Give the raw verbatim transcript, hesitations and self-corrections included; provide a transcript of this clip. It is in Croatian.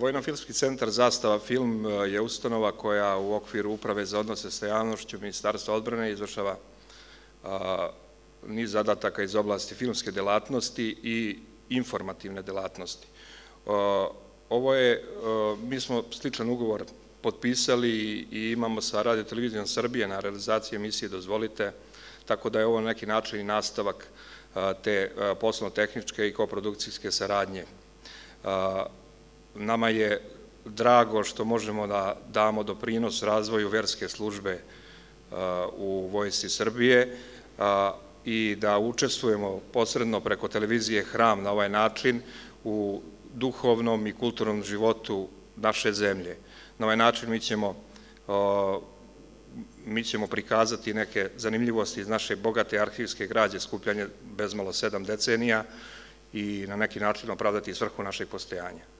Vojno-filmski centar Zastava film je ustanova koja u okviru Uprave za odnose sa javnošću Ministarstva odbrane izvršava niz zadataka iz oblasti filmske delatnosti i informativne delatnosti. Ovo je, mi smo sličan ugovor potpisali i imamo sa Radio televizijom Srbije na realizaciji emisije Dozvolite, tako da je ovo na neki način i nastavak te poslovno-tehničke i koprodukcijske saradnje. Nama je drago što možemo da damo doprinos razvoju verske službe u Vojsci Srbije i da učestvujemo posredno preko televizije Hram na ovaj način u duhovnom i kulturnom životu naše zemlje. Na ovaj način mi ćemo mi ćemo prikazati neke zanimljivosti iz naše bogate arhivske građe skupljanje bezmalo sedam decenija i na neki način opravdati svrhu našeg postojanja.